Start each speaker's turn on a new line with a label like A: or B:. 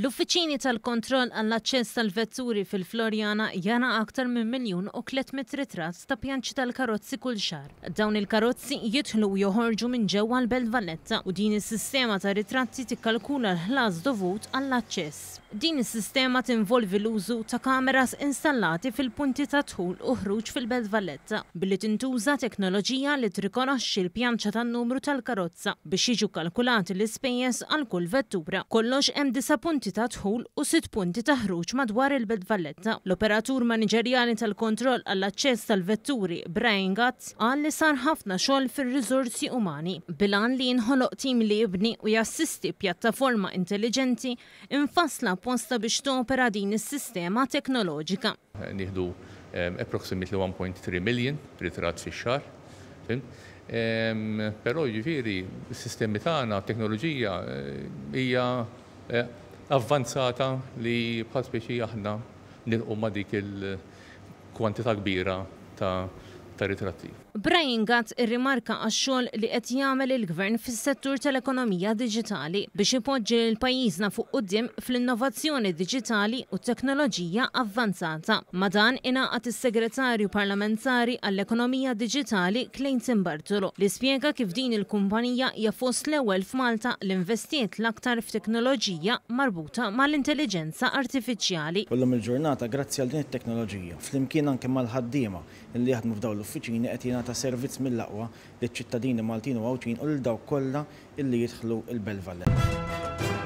A: L-uffiċini tal-kontroll għall-aċċess tal-vetturi fil-Floriana jara aktar minn 1,300,000 ritratt ta' pjanċi tal-karozzi kull xahar. Dawn il-karozzi jidħlu u joħorġu minn ġewwa l-Belt Valletta u din is-sistema ta' ritratti tikkalkula l-ħlas dovut għall-aċċess. Din is-sistema tinvolvi l-użu ta' kameras installati fil-punti ta' dħul u ħruġ fil-Belt Valletta, billi tintuża teknoloġija li tirrikonoxxi l-pjanċa tan-numru tal-karozza biex jiġu kkalkulati l-ispejjeż għal kull vettura. B'kollox hemm disa' punti ta' dħul u sitt punti ta' ħruġ madwar il-Belt Valletta. L-operatur maniġerjali tal-kontroll għall-aċċess tal-vetturi Brian Gatt qal li sar ħafna xogħol fir-riżorsi umani bil-għan li jinħoloq tim li jibni u jassisti pjattaforma intelliġenti mfassla apposta biex topera din is-sistema teknoloġika.
B: Nieħdu approximately 1.3 million ritratt fix-xahar, fhimt? Però jiġifieri s-sistemi tagħna, t-teknoloġija hija avvanzata li bħal speċi aħna nilħqu ma' dik il-kwantità kbira ta' ritratti.
A: Brian Gatt irrimarka għax-xogħol li qed jagħmel il-Gvern fis-settur tal-ekonomija diġitali biex ipoġġi lil pajjiżna fuq quddiem fl-innovazzjoni diġitali u t-teknoloġija avvanzata. Ma' dan ingħaqad is-Segretarju Parlamentari għall-Ekonomija Diġitali Clayton Bartolo li spjega kif din il-kumpanija hija fost l-ewwel f'Malta li nvestiet l-aktar f'teknoloġija marbuta mal-intelliġenza artifiċjali.
C: U llum il-ġurnata grazzi għal din it-teknoloġija, flimkien anke mal-ħaddiema li jaħdmu f'dawn l-uffiċini qed jingħata servizz mill-aqwa liċ-ċittadini Maltin u Għawdxin u lil dawk kollha illi jidħlu l-Belt Valletta.